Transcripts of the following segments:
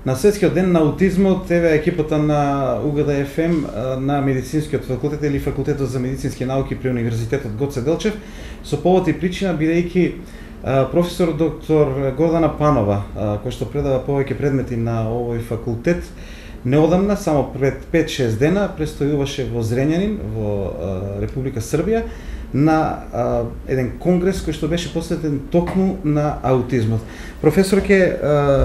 На Светскиот ден на аутизмот, еве екипата на УГД ФМ на медицинскиот факултет или факултетот за медицински науки при Универзитетот Гоце Делчев, со повод и причина бидејќи професор доктор Гордана Панова, која што предава повеќе предмети на овој факултет, неодамна, само пред 5-6 дена, престојуваше во Зрењанин, во Република Србија, на еден конгрес кој што беше посветен токму на аутизмот. Професорке,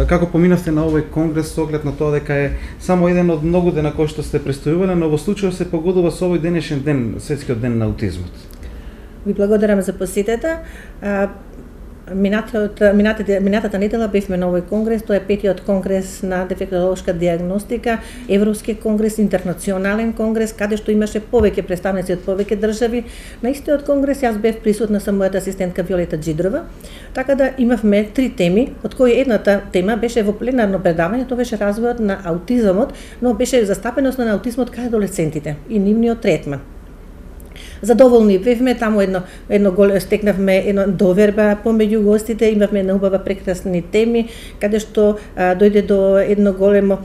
како поминавте на овој конгрес со оглед на тоа дека е само еден од многу дена кои што сте престојувале, но во случајот се погодува со овој денешен ден, Светскиот ден на аутизмот? Ви благодарам за посетата. Минатата недела бевме на овој конгрес, тоа е 5-тиот конгрес на дефектолошка диагностика, Европски конгрес, интернационален конгрес, каде што имаше повеќе представници од повеќе држави. На истиот конгрес јас бев присутна со мојата асистентка Виолета Джидрова, така да имавме 3 теми, од кои едната тема беше во пленарно предавање, тоа беше развојот на аутизмот, но беше застапеност на аутизмот кај адолесцентите и нивниот третман. Задоволни бевме, таму стекнавме една доверба помеѓу гостите, имавме една убава прекрасни теми, каде што дојде до една голема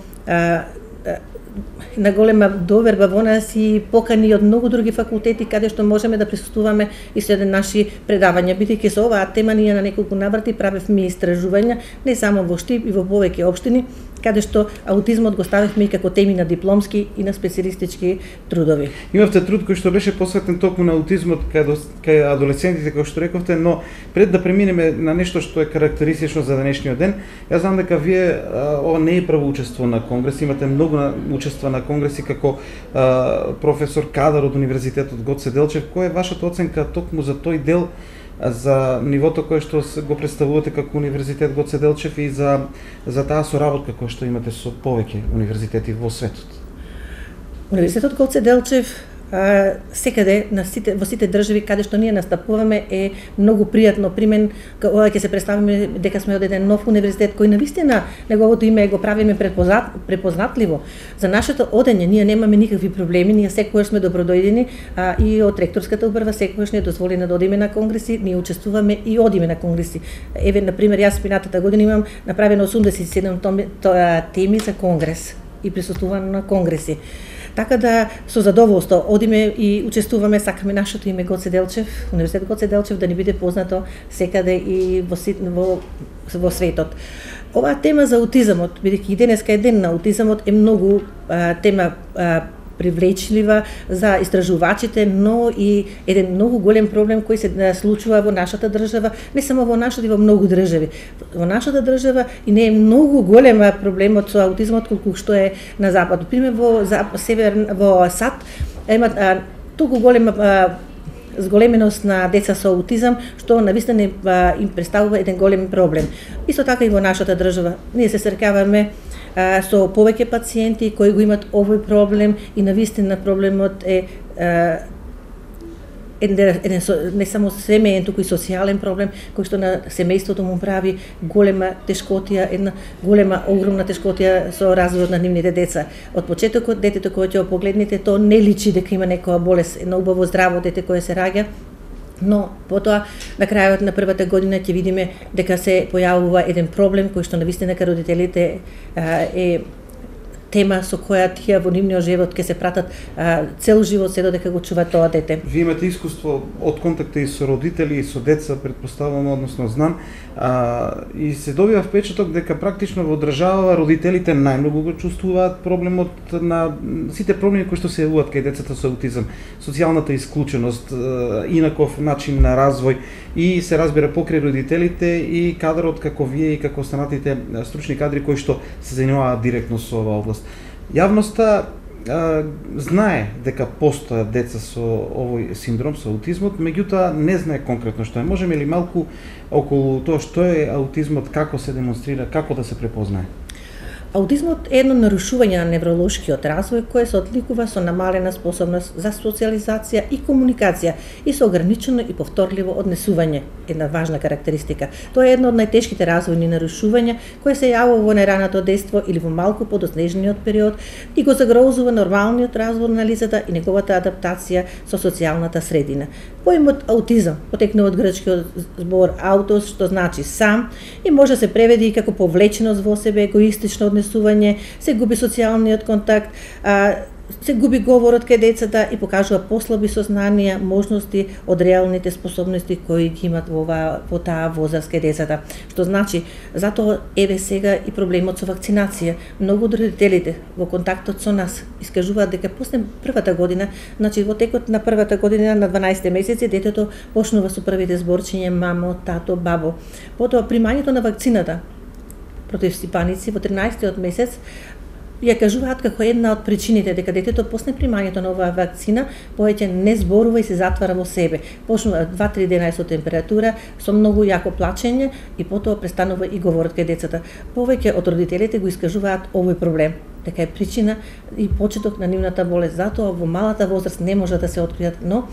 доверба во нас и покани од многу други факултети каде што можеме да присуствуваме и со еден наши предавања, бидејќи со оваа тема ние на неколку наврати правевме истражувања не само во Штип и во повеќе општини, каде што аутизмот го ставивме и како теми на дипломски и на специјалистички трудови. Имавте труд кој што беше посветен токму на аутизмот кај адолесцентите, како што рековте, но пред да преминеме на нешто што е карактеристично за денешниот ден, јас знам дека вие ова не е прво учество на конгрес, имате многу учества на конгреси како професор кадар од Универзитетот Гоце Делчев. Која е вашата оценка токму за тој дел, за нивото кое што го представувате како Универзитет Гоце Делчев и за таа соработка која што имате со повеќе универзитети во светот? Универзитетот Гоце Делчев секаде во сите држави каде што ние настапуваме е многу пријатно примен, кога ќе се представиме дека сме од еден нов универзитет кој навистина неговото име го правиме препознатливо. За нашето одење ние немаме никакви проблеми, ние секогаш сме добродојдени и од ректорската управа секогаш ни е дозволено да одиме на конгреси, ние учествуваме и одиме на конгреси. Еве на пример јас минатата година имам направено 87 теми за конгрес и присуствувам на конгреси. Така да со задоволство одиме и учествуваме, сакаме нашето име Гоце Делчев, Универзитет Гоце Делчев да ни биде познато секаде и во светот. Оваа тема за аутизмот, бидејќи и денеска е ден на аутизмот, е многу тема привлечлива за истражувачите, но и еден многу голем проблем кој се случува во нашата држава, не само во нашата, и во многу држави. Во нашата држава и не е многу голема проблемот со аутизмот колку што е на запад. Пример во САД има толку голема зголеменост на деца со аутизам, што навистина им представува еден голем проблем. Исто така и во нашата држава. Ние се среќаваме со повеќе пациенти кои го имат овој проблем и навистина проблемот е не само семеен, туку и социјален проблем кој што на семејството му прави голема тешкотија, една голема, огромна тешкотија со развојот на нивните деца. Од почетокот детето кое ќе го погледнете, то не личи дека има некоја болест, едно убаво здраво дете кое се раѓа, но потоа на крајот на првата година ќе видиме дека се појавува еден проблем кој што навистина кај родителите е тема со која тие во нивниот живот ќе се пратат цел живот се додека го чува тоа дете. Вие имате искуство од контакта и со родители и со деца, претпоставувам, односно знам, и се добива впечаток дека практично во држава родителите најмногу го чувствуваат проблемот на сите проблеми кои што се јавуваат кај децата со аутизам, социјалната исклученост, инаков начин на развој и се разбира покрај родителите и кадрот како вие и како останатите стручни кадри кои што се занимаваат директно со оваа област. Јавноста знае дека постојат деца со овој синдром, со аутизмот, меѓутоа не знае конкретно што е. Можеме ли малку околу тоа што е аутизмот, како се демонстрира, како да се препознае? Аутизмот е едно нарушување на невролошкиот развој кое се одликува со намалена способност за социјализација и комуникација и со ограничено и повторливо однесување, една важна карактеристика. Тоа е едно од најтешките развојни нарушувања кои се јавува во најраното детство или во малку подоснежниот период и го загрозува нормалниот развој на лицата и неговата адаптација со социјалната средина. Поимот аутизам потекнува од грчкиот збор аутос, што значи сам, и може да се преведи и како повлеченост во себе, егоистично однесување однесување, се губи социјалниот контакт, се губи говорот кај децата и покажува послаби сознанија, можности од реалните способности кои ги имат во таа возраст кај децата. Што значи, затоа еве сега и проблемот со вакцинација. Многу од родителите во контактот со нас искажуваат дека после првата година, значи во текот на првата година на 12 месеци детето почнува со првите зборчиња мамо, тато, бабо. Потоа примањето на вакцината против стипаници во 13-тиот месец ја кажуваат како една од причините дека детето после примањето на оваа вакцина повеќе не зборува и се затвара во себе. Почнува 2-3 дена со температура, со многу јако плачење и потоа престанува и говорот кај децата. Повеќе од родителите го искажуваат овој проблем, дека е причина и почеток на нивната болест. Затоа во малата возраст не може да се откријат, но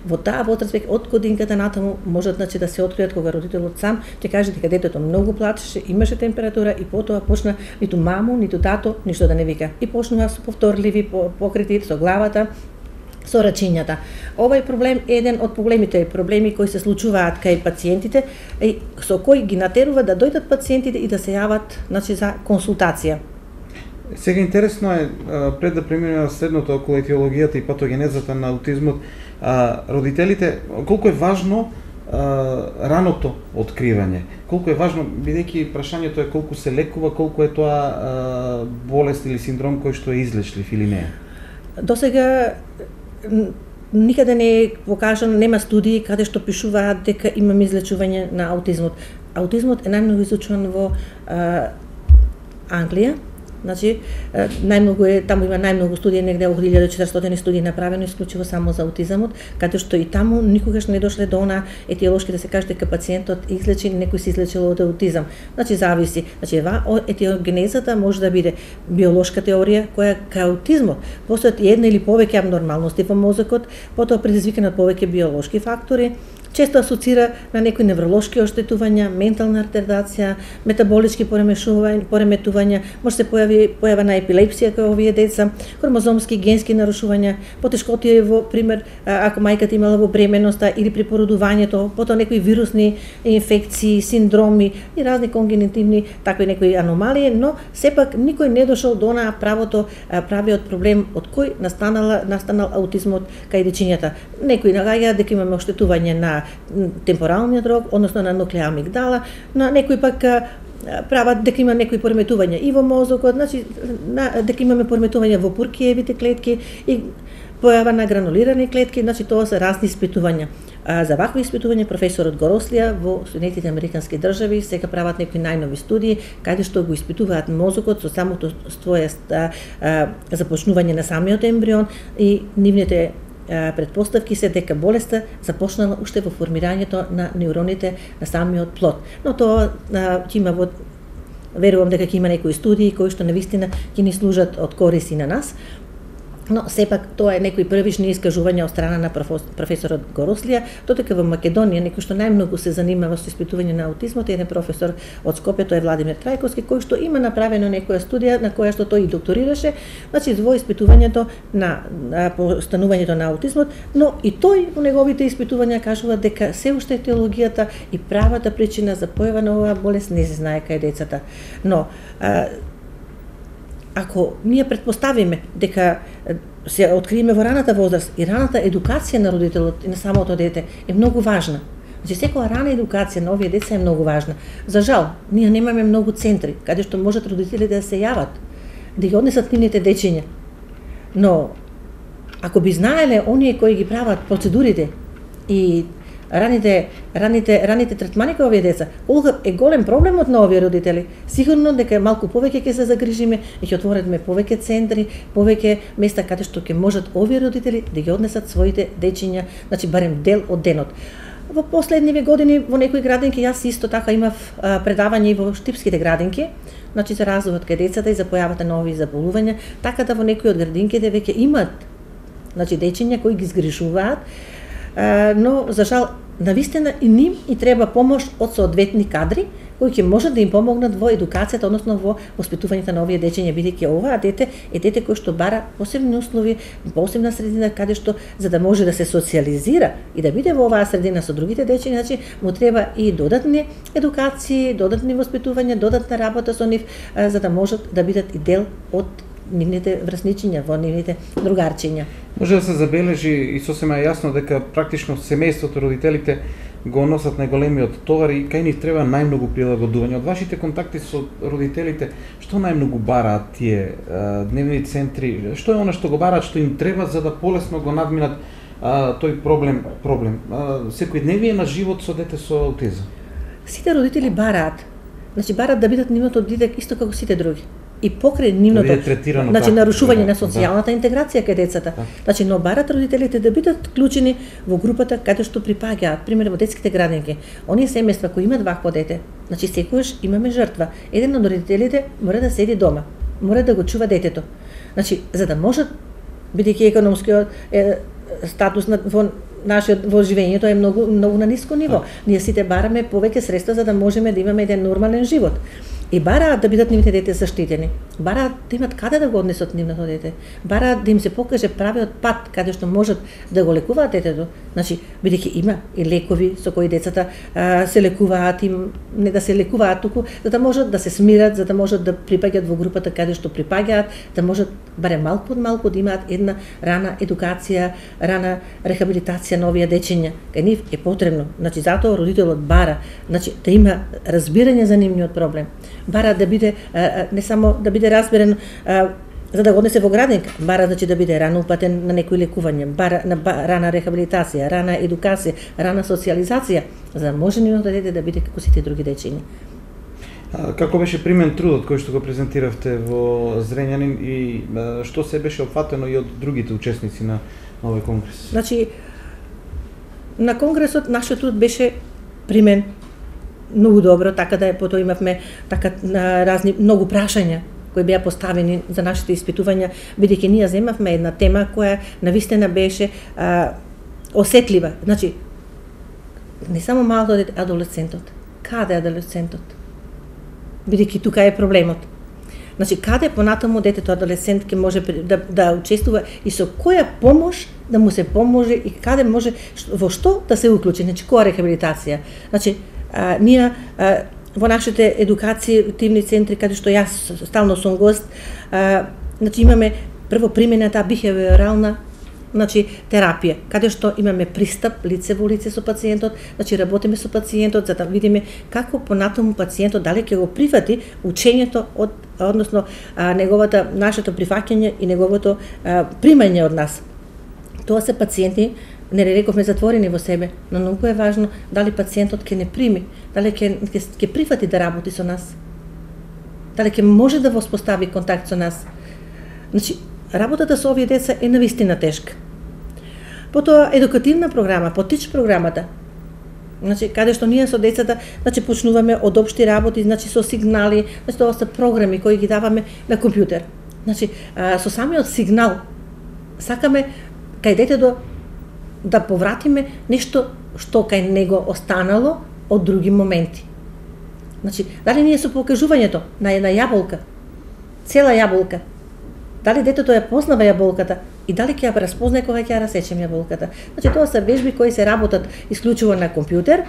во таа возраст веќе од годинката натаму можат да се откријат кога родителот сам ќе каже дека детето многу плачеше, имаше температура и потоа почна ниту мамо, ниту тато ништо да не вика. И почнува со повторливи покрити со главата, со рачињата. Овој проблем е еден од проблемите проблеми кои се случуваат кај пациентите и со кои ги натерува да дојдат пациентите и да се јават, значи, за консултација. Сега интересно е, пред да преминеме на следното околу етиологијата и патогенезата на аутизмот, родителите, колку е важно раното откривање, колку е важно, бидејќи прашањето е колку се лекува, колку е тоа болест или синдром кој што е излечлив или не? Досега никаде не е покажано, нема студии каде што пишуваат дека имаме излечување на аутизмот. Аутизмот е најмногу изучуван во Англија. Значи, најмногу е, таму има најмногу студии, негде околу 1400 студии направено исклучиво само за аутизмот, каде што и таму никогаш не дошле до она етиолошки да се каже дека пациентот излечен, некој се излечил од аутизам. Значи, зависи. Значи, етиогенезата може да биде биолошка теорија, која кај аутизмот постојат една или повеќе абнормалности во мозокот, потоа предизвикани од повеќе биолошки фактори, често асоцира на некои невролошки оштетувања, ментална ретардација, метаболички пореметувања, може се појава на епилепсија кај овие деца, хромозомски генски нарушувања, потешкотија во пример ако мајката имала во бременоста или при породувањето, потоа некои вирусни инфекции, синдроми и разни конгенитивни такви некои аномалии, но сепак никој не дошол до онаа правиот проблем од кој настанал аутизмот кај дечињата. Некои нагаѓаат дека имаме оштетување на темпоралниот рог, односно на нуклеа амигдала, на некои пак прават дека има некои пореметувања и во мозокот, значи дека имаме пореметувања во пуркиевите клетки и појава на гранулирани клетки, значи тоа се разни испитувања. За вакви испитувања професорот Горослија во Соединетите американски држави сега прават некои најнови студии каде што го испитуваат мозокот со самото своје започнување на самиот ембрион и нивните предпоставки се дека болеста започнала уште во формирањето на неуроните на самиот плод. Но тоа ќе има верувам дека ќе има некои студии кои што навистина ќе ни служат од корист и на нас. Но сепак тоа е некои првични искажувања од страна на професорот Горослија, додека во Македонија некој што најмногу се занимава со испитување на аутизмот е еден професор од Скопје, тој е Владимир Трајковски, кој што има направено некоја студија на која што тој и докторираше, значи во испитувањето на постанувањето на аутизмот, но и тој во неговите испитувања кажува дека се уште етиологијата и правата причина за појава на оваа болест не се знае кај децата. Но ако ние предпоставиме дека се откриеме во раната возраст и раната едукација на родителот и на самото дете е многу важна. Значи секоја рана едукација на овие деца е многу важна. За жал, ние немаме многу центри каде што можат родителите да се јават, да ги однесат нивните дечиња. Но ако би знаеле оние кои ги прават процедурите и раните третмани кај овие деца, колку е голем проблемот на овие родители, сигурно дека малку повеќе ќе се загрижиме и ќе отвориме повеќе центри, повеќе места каде што ќе можат овие родители да ги однесат своите дечиња, значи барем дел од денот. Во последниве години во некои градинки јас исто така имав предавање и во штипските градинки, значи за развојот кај децата и за појавата на овие заболувања, така да во некои од градинките веќе имат, значи дечиња кои ги згрешуваат, но за жал навистина и ним и треба помош од соодветни кадри кои ќе можат да им помогнат во едукацијата, односно во воспитувањето на овие дечиња, бидејќи оваа дете е дете кој што бара посебни услови, посебна средина каде што за да може да се социализира и да биде во оваа средина со другите дечиња, значи му треба и додатни едукации, додатни воспитувања, додатна работа со нив, за да можат да бидат и дел од нивните врсничиња, во нивните другарчиња. Може да се забележи и сосема јасно дека практично семејството, родителите го носат најголемиот товар и кај нив треба најмногу прилагодување. Од вашите контакти со родителите, што најмногу бараат тие дневни центри? Што е она што го бараат, што им треба за да полесно го надминат тој проблем? Секојдневие на живот со дете со аутизам. Сите родители бараат. Значи бараат да бидат нивното дете исто како сите други. И покрај нивното, значи нарушување на социјалната интеграција кај децата. Значи но барат родителите да бидат вклучени во групата каде што припаѓаат, пример во детските градинки. Оние семејства кои имаат вакво дете, значи секогаш имаме жртва. Еден од родителите мора да седи дома, мора да го чува детето. Значи за да можат, бидејќи економскиот статус во нашиот во живењето е многу на ниско ниво. Ние сите бараме повеќе средства за да можеме да имаме еден нормален живот. И бараат да бидат нивните дете заштитени. Бараат да имат каде да го однесат нивното дете. Бараат да им се покаже правиот пат каде што можат да го лекуваат детето. Значи, бидејќи има и лекови со кои децата се лекуваат, им не да се лекуваат туку, за да можат да се смират, за да можат да припаѓаат во групата каде што припаѓаат, да можат барем малку од малку да имаат една рана едукација, рана рехабилитација на овие дечиња. Кај нив е потребно. Значи затоа родителот бара, значи да има разбирање за нивниот проблем. Бара да биде не само да биде разберен за да го однесе во градинка, бара значи да биде рано упатен на некои лекување, бара на рана рехабилитација, рана едукација, рана социјализација, за да може нивното дете да биде како сите други дечиња. Како беше примен трудот кој што го презентиравте во Зрењанин и што се беше опфатено и од другите учесници на овој конгрес? Значи на конгресот нашиот труд беше примен многу добро, така да потоа имавме така разни многу прашања кои беа поставени за нашите испитувања, бидејќи ние земавме една тема која навистина беше осетлива. Значи не само малото дете, адолесцентот. Каде е адолесцентот? Бидејќи тука е проблемот. Значи каде понатаму детето адолесцент ќе може да учествува и со која помош да му се поможе и каде може во што да се уклучи, значи која рехабилитација. Значи ние во нашите едукативни центри, каде што јас стално сум гост, значи имаме прво примената бихевиорална терапија, каде што имаме пристап лице во лице со пациентот, значи работиме со пациентот за да видиме како понатаму пациентот дали ќе го прифати учењето односно нашето прифаќање и неговото примање од нас. Тоа се пациенти, не рековме затворени во себе, но многу е важно дали пациентот ќе не прими, дали ќе прифати да работи со нас, дали ќе може да воспостави контакт со нас. Значи, работата со овие деца е навистина тешка. Потоа едукативна програма, потич програмата. Значи, каде што ние со децата, значи почнуваме од општи работи, значи со сигнали, значи тоа се програми кои ги даваме на компјутер. Значи, со самиот сигнал сакаме кај детето да повратиме нешто што кај него останало од други моменти. Значи, дали ние со покажувањето на една јаболка, цела јаболка, дали детето ја познава јаболката и дали ќе ја распознае кога ќе ја расечем јаболката. Значи, тоа се вежби кои се работат исклучиво на компјутер,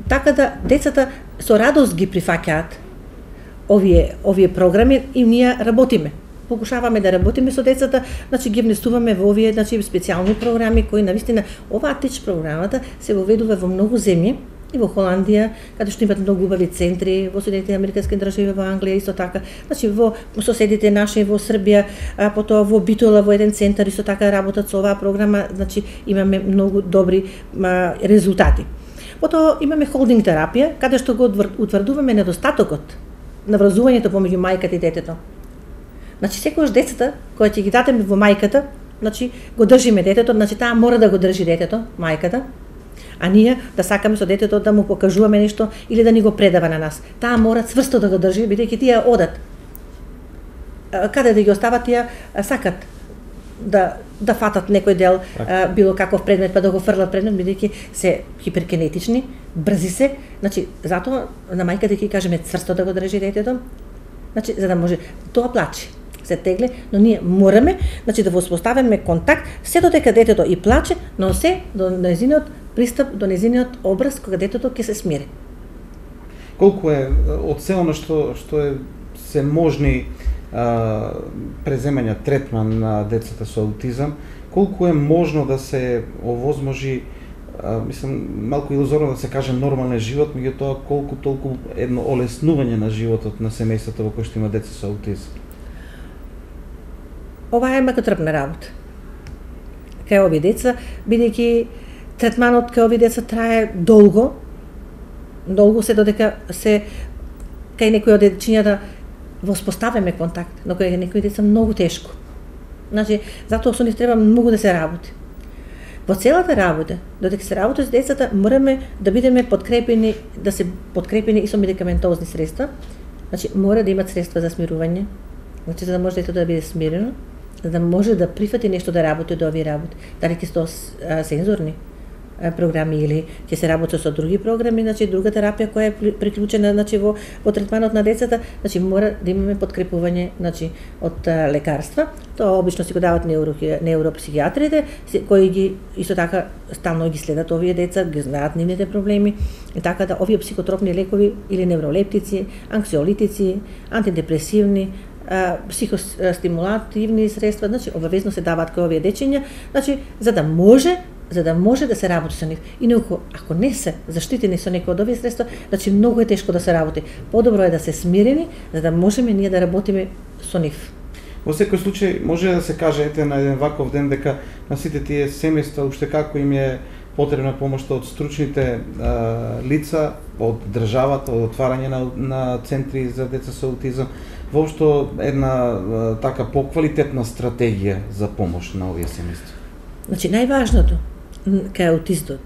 така да децата со радост ги прифаќаат овие програми и ние работиме. Покушаваме да работиме со децата, значи ги внесуваме во овие специјални програми кои навистина оваа тич програмата се воведува во многу земји и во Холандија, каде што имаат многу убави центри, во Соединетите американски држави, во Англија исто така, значи во соседите наши во Србија, потоа во Битола во еден центар исто така работат со оваа програма, значи имаме многу добри резултати. Потоа имаме холдинг терапија, каде што го утврдуваме недостатокот на врзувањето помеѓу мајката и детето. Значи секогаш децата кои ќе ги дадеме во мајката, значи го држиме детето, значи таа мора да го држи детето, мајката, а ние да сакаме со детето да му покажуваме нешто или да ни го предава на нас. Таа мора цврсто да го држи, бидејќи тие одат. Каде да ги остават тие сакат да фатат некој дел било каков предмет па да го фрлат предмет, бидејќи се хиперкинетични, брзи се, значи затоа на мајката ќе кажеме цврсто да го држи детето, значи за да може тоа плаче, се тегле, но ние мораме, значи да воспоставиме контакт се додека детето и плаче, но се до нејзиниот пристап, до нејзиниот образ кога детето ќе се смири. Колку е од се она што е се можни преземања третман на децата со аутизам, колку е можно да се овозможи, мислам, малку илузорно да се каже нормален живот, меѓутоа колку толку едно олеснување на животот на семејството во кој што има деца со аутизам? Ова е макотрпна работа. Кај овие деца, бидејќи третманот кај овие деца трае долго се додека се кај некои од дечињата воспоставяме контакт, но кај некои деца многу тешко. Значи, затоа со нив треба многу да се работи. Во целата работа, додека се работи с децата, мораме да бидеме подкрепени, да се подкрепени и со медикаментозни средства. Значи, мора да имат средства за смирување, значи за да може детето да биде смирено, за да може да прифати нешто да работи од овие работи. Дали ќе се сензорни програми или ќе се работи со други програми, значи друга терапија која е приклучена, значи во третманот на децата, значи мора да имаме подкрепување, значи од лекарства. Тоа обично си го дават невропсихијатрите, кои ги исто така стално ги следат овие деца, ги знаат нивните проблеми, и така да овие психотропни лекови или невролептици, анксиолитици, антидепресивни, психостимулативни средства, значи обавезно се даваат кај овие дечиња, значи за да може да се работи со нив. Инаку, ако не се заштитени со некој од овие средства, значи многу е тешко да се работи. Подобро е да се смирени, за да можеме ние да работиме со нив. Во секој случај, може да се каже, ете, на еден ваков ден, дека на сите тие семејства, уште како им е потребна помошта од стручните лица, од државата, од отварање на центри за деца со аутизам, воопшто една така поквалитетна стратегија за помош на овие семејства. Значи, најважното кај аутистот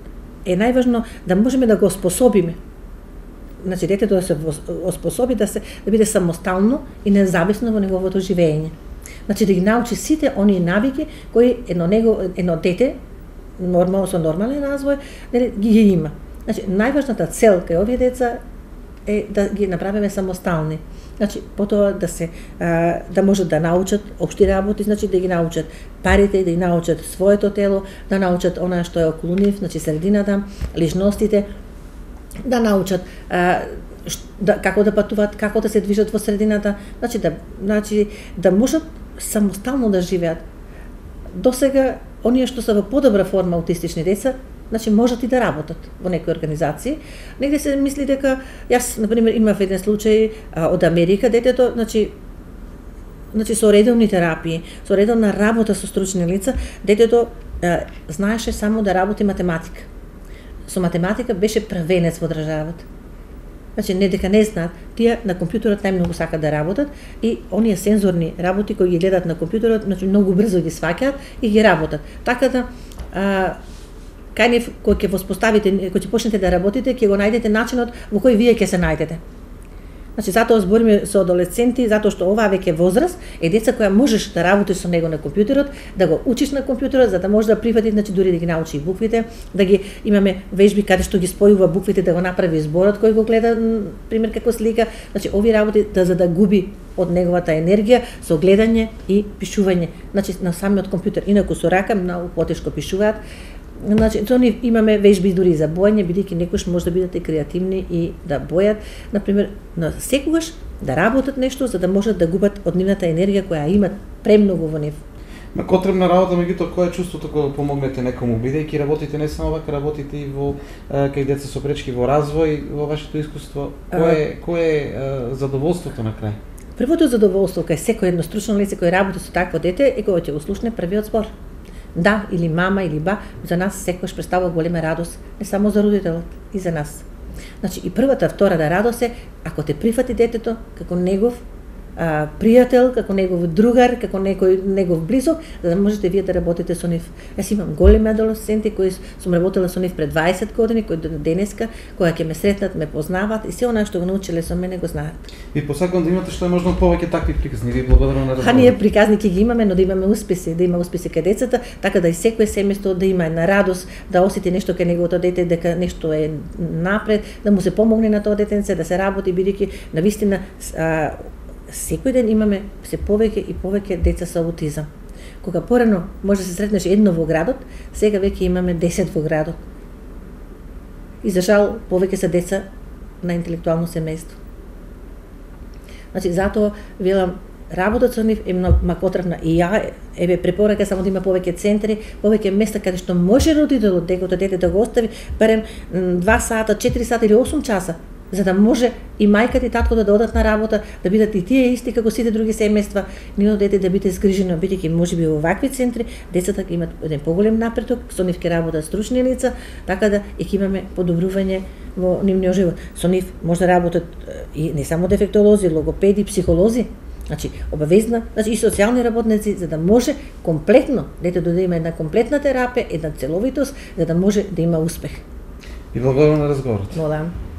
е најважно да можеме да го оспособиме. Значи, детето да се оспособи да биде самостално и независно во неговото живење. Значи, да ги научи сите оние навики кои едно дете со нормален развој ги има. Значи, најважната цел кај овие деца е да ги направиме самостални. Значи, потоа да можат да научат општи работи, значи да ги научат парите, да ги научат своето тело, да научат она што е околу нив, значи средината, личностите, да научат како да патуваат, како да се движат во средината, значи да можат самостално да живеат. Досега оние што се во подобра форма аутистични деца, значи можат и да работат во некои организации. Негде се мисли дека, јас, например, имав еден случај од Америка, детето, значи со редовни терапии, со редовна работа со стручни лица, детето знаеше само да работи математика. Со математика беше првенец во државата. Значи, не дека не знаат, тие на компјутерот најмногу сакат да работат и оние сензорни работи кои ги гледат на компјутерот, значи многу брзо ги сваќаат и ги работат. Така да кај нив кој ќе воспоставите, кој ќе почнете да работите, ќе го најдете начинот во кој вие ќе се најдете. Значи, затоа збориме со адолесценти, затоа што оваа веќе возраст е деца која можеш да работиш со него на компјутерот, да го учиш на компјутерот, за да може да прифати, значи дури да ги научи и буквите, да ги имаме вежби каде што ги спојува буквите, да го направи зборот кој го гледа, пример како слика, значи овие работи за да губи од неговата енергија со гледање и пишување, значи на самиот компјутер, инаку со рака многу потешко пишуваат. Значи, со нив имаме вежби дури за боење, бидејќи некојаш може да бидат и креативни и да бојат, например, на секогаш да работат нешто за да можат да губат од нивната енергија која имат премногу во нив. Котребна работа, меѓутоа, кое е чувството кога помогнете некому, бидејќи работите не само вака, работите и во кај деца со пречки во развој, во вашето искуство, кое е задоволството на крај? Првото задоволство кај секој едно стручно лице кој работи со такво дете е кога ќе го слушне првиот збор. Да, или мама, или ба, за нас секојаш представува голема радост, не само за родителот, и за нас. Значи, и првата, втората радост е, ако те прифати детето како негов, пријател, како негов другар, како некој негов близок, за да можете вие да работите со нив. Јас имам големи адолесценти кои сум работела со нив пред 20 години, кои до денеска, кога ќе ме сретнат, ме познаваат и се она што го научиле со мене го знаат. И посакувам да имате што е можно повеќе такви приказни. Ви благодарам на разговорот. Ние приказни ќе ги имаме, но да имаме успеси, да има успеси кај децата, така да и секое семејство да има една радост, да осети нешто кај неговото дете, дека нешто е напред, да му се помогне на тоа детенце, да се работи, бидејќи навистина секој ден имаме се повеќе и повеќе деца со аутизам. Кога порано може да се сретнеш едно во градот, сега веќе имаме 10 во градот. И за жал повеќе се деца на интелектуално семејство. Значи затоа велам работата со нив е многу потребна и ја препорака само да има повеќе центри, повеќе места каде што може родителот неговото дете да го остави барем 2 сата, 4 сата или 8 часа, за да може и мајката и таткото да одат на работа, да бидат и тие исти како сите други семејства, нивното дете да биде згрижено, бидејќи можеби во вакви центри децата ќе имат еден поголем напредок, со нив ќе работат стручни лица, така да и ќе имаме подобрување во нивниот живот. Со нив може да работат и не само дефектолози, логопеди, психолози, значи обавезна, значи и социјални работници, за да може комплетно детето да има една комплетна терапија, една целовитост, за да може да има успех. И благодарам на разговорот. Молам.